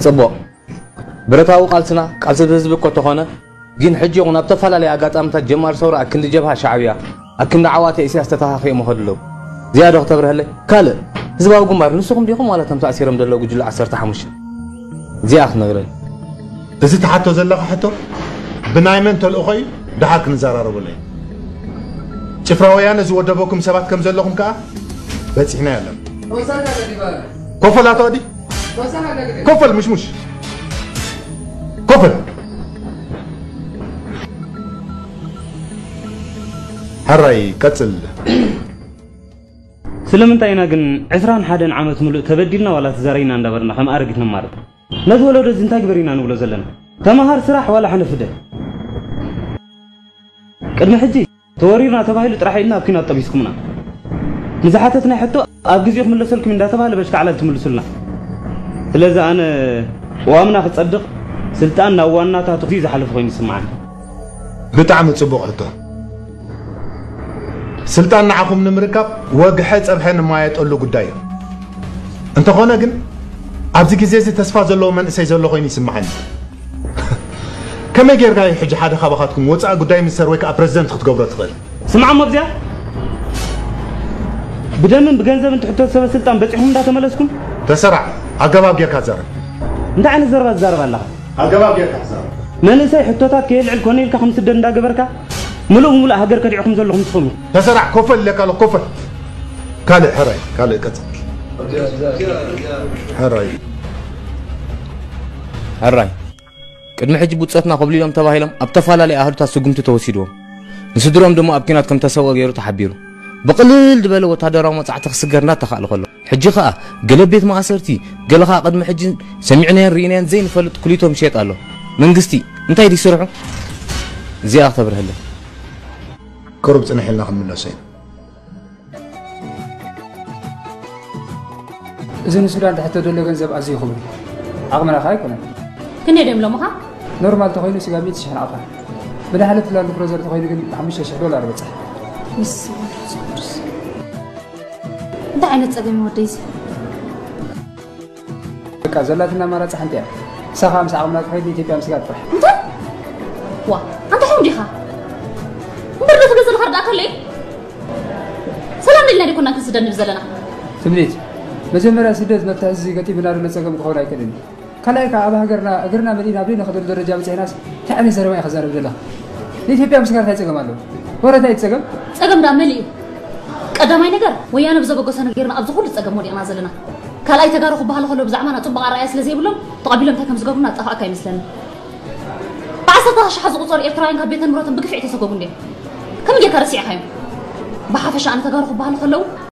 ጽቡቕ። ብረታዊ ቃልስና ቃልሲ ህዝቢ እኮ ተኾነ፣ ግን ሕጂ ይኹን ኣብ ተፈላለየ ኣጋጣሚታት ጀማሪ ሰውራ ኣክንዲ ጀብሃ ሻዕብያ፣ ኣክንዲ ዓዋተ ኢሳያስ ተተኻኺኦም ይኸዱ ኣለዉ። እዚኣ ዶ ክተብርሀለይ? ካልእ፣ ህዝባዊ ግንባር ንስኹም ዲኹም ዋላ እቶም ተኣሲሮም ዘለዉ ጉጅለ ዓሰርተ ሓሙሽተ? እዚኣ ክትነግረኒ። እዚ ትሓቶ ዘለኻ ሕቶ ብናይ መን ተልእኾ እዩ? ደሓር ክንዘራረበሉ ኢና። ጭፍራ ወያነ ዝወደበኩም ሰባት ከም ዘለኹም ከኣ በጺሕና የለን። ኮፈል ኣቶ ኣዲ፣ ኮፈል ምሽሙሽ፣ ኮፈል። ሕራይ ቀጽል። ስለምንታይ ኢና ግን ዕስራን ሓደን ዓመት ምሉእ ተበዲልና ዋላ ተዛሪና እንዳበርና ከም ኣረጊት ነማርር? ነዚ ወለዶ እዚ እንታይ ግበር ኢና ንብሎ ዘለና? ተማሃር፣ ስራሕ ዋላ ሕነ ፍደ? ቅድሚ ሕጂ ተወሪርና ተባሂሉ ጥራሕ ኢልና ኣብ ኲናት ጠቢስኩምና። ንዝሓተትናይ ሕቶ ኣብ ግዜኡ ክምለሰልኩም እንዳተባሃለ በሽካዕላል ትምልሱልና። ስለዚ ኣነ ቅዋምና ክጸድቕ ስልጣን ናብ ዋናታቱ ክዝዩ ዝሓለፈ ኮይኑ ይስምዓኒ። ብጣዕሚ ጽቡቕ ሕቶ። ስልጣን ንዓኹም ንምርካብ ወግሐ ጸብሐ ንማየጠሉ ጉዳይ እዩ። እንተኾነ ግን ኣብዚ ግዜ እዚ ተስፋ ዘለዎ መንእሰይ ዘሎ ኮይኑ ይስምዓኒ። ከመይ ጌርካ እዩ ሕጂ ሓደ ካባኻትኩም ወጻኢ ጉዳይ ሚኒስተር ወይ ከኣ ፕረዚደንት ክትገብሮ ትኽእል? ስምዓ እሞ ኣብዚኣ ብደምን ብገንዘብን ትሕቶ ሰበ ስልጣን በጺሕኩም እንዳተመለስኩም? ተሰራዕ፣ ኣገባብ ጌርካ ዛረብ። እንታይ ዓይነት ዘረባ ትዛረብ ኣለኻ? ኣገባብ ጌርካ ዛረብ። መንእሰይ ሕቶታት ከየልዕል ኮነ ኢልካ ከም ስደድ እንዳገበርካ ምሉእ ብምሉእ ሃገር ከዲዕኹም ዘለኹም ንስኹም ኢኹም። ተሰራዕ፣ ኮፈል ኢለካ ኣለኹ፣ ኮፈል። ካልእ ሕራይ፣ ካልእ ቀጽል። ሕራይ። ሕራይ። ቅድሚ ሕጂ ብጾትና ኮብሊሎም ተባሂሎም ኣብ ተፈላለየ ኣሃዱታት ስጉምቲ ተወሲድዎም። ንስድሮም ድማ ኣብ ኲናት ከም ተሰውኦ ገይሩ ተሓቢሩ። ብቕልል ዝበለ ወታደራዊ መጻዕቲ ክስገር እናተኻእለ ከሎ፣ ሕጂ ኸኣ ገለ ቤት ማእሰርቲ፣ ገለ ኸኣ ቅድሚ ሕጂ ሰሚዕናዮን ርኢናዮን ዘይንፈልጥ ኩሊቶም ይሸየጥ ኣሎ። መንግስቲ እንታይ ድዩ ስርሑ? እዚኣ ክተብርሀለይ። ቅሩብ ጽንሕ ኢልና ክንምለሶ ኢና። እዚ ንሱዳን ትሕቶ ዘሎ ገንዘብ ኣዝዩ ክቡር እዩ። ዓቕምና ከኣ ኣይኮነን። ክንደይ ድዮም ሎምኻ? ኖርማል ተኾይኑ ስጋብ ሚእቲ ሽሕ ናቕፋ። ብድሓለቲ ላንድ ክሮዘር ተኾይኑ ግን ሓሙሽተ ሽሕ ዶላር በጽሕ። ንሱ ቅዱስ። እንታይ ዓይነት ጸገም እዩ ወደይ እዚ? በቃ ዘላትና ኣማራጺ ሓንቲ እያ። ንሳ ከኣ ምስ ዓቕምና ትኸይድ ንኢትዮጵያ ምስጋር ጥራሕ። እንታይ? ዋ፣ ኣንታ ሕሙም ዲኻ? እምበር ዶ ትገዝእ ንኸርዳእካ ኣለይ? ሰላም ኢልና ዲኮና ክንስደድ ንብል ዘለና? ትምኒት፣ መጀመርያ ስደት መብታ ህዝቢ ገጢሙና ዘሎ ጸገም ክኸውን ኣይክእልን እዩ። ካልኣይ ከኣ ኣብ ሃገርና እግርና መሊእና ኣብ ዘይንኸደሉ ደረጃ በጺሕናስ እንታይ ዓይነት ዘረባ ኢኻ ትዛረብ ዘለኻ? ንኢትዮጵያ ምስጋር እንታይ ጸገም ኣለዎ? ወረ እንታይ እቲ ጸገም? ጸገም ደኣ መሊኡ። ቀዳማይ ነገር ወያነ ብዘበገሶ ነጊርና ኣብዚ ኩሉ ጸገም ወዲቕና ዘለና። ካልኣይ ተጋሩ ክበሃሉ ከለዉ ብዛዕባና ጽቡቕ ኣረኣእያ ስለ ዘይብሎም ተቐቢሎም እንታይ ከም ዝገብሩና ዝጠፍኣካ ኣይመስለንን። ብዓሰርተ ኣሽሓት ዝቑጸሩ ኤርትራውያን ካብ ቤተ ንብረቶም ብግፍዒ ተሰጎጉ እንድዮም። ከመይ ጌርካ ረሲዕካዮም? ብሓፈሻ ኣነ ተጋሩ ክበሃሉ ከለዉ